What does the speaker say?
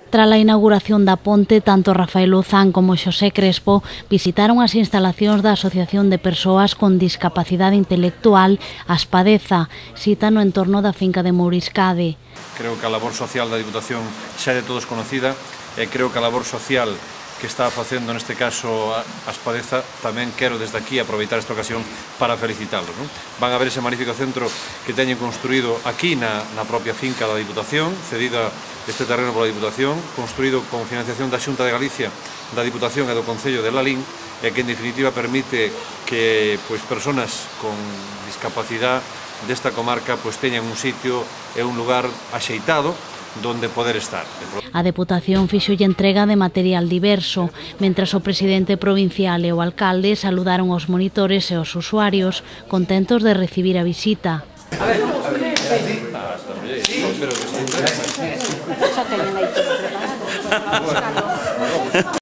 Tras a inauguración da ponte, tanto Rafael Luzán como Xosé Crespo visitaron as instalacións da Asociación de Persoas con Discapacidade Intelectual Aspadeza, cita no entorno da finca de Mouriscade. Creo que a labor social da Diputación xa é de todos conocida e creo que a labor social que está facendo neste caso Aspadeza tamén quero desde aquí aproveitar esta ocasión para felicitalos. Van a ver ese magnífico centro que teñen construído aquí na propia finca da Diputación, cedida este terreno pola Diputación, construído con financiación da Xunta de Galicia, da Diputación e do Concello de Lalín, e que en definitiva permite que persoas con discapacidade desta comarca teñan un sitio e un lugar axeitado donde poder estar. A Deputación fixolle entrega de material diverso, mentras o presidente provincial e o alcalde saludaron os monitores e os usuarios, contentos de recibir a visita. A ver, sí, pero que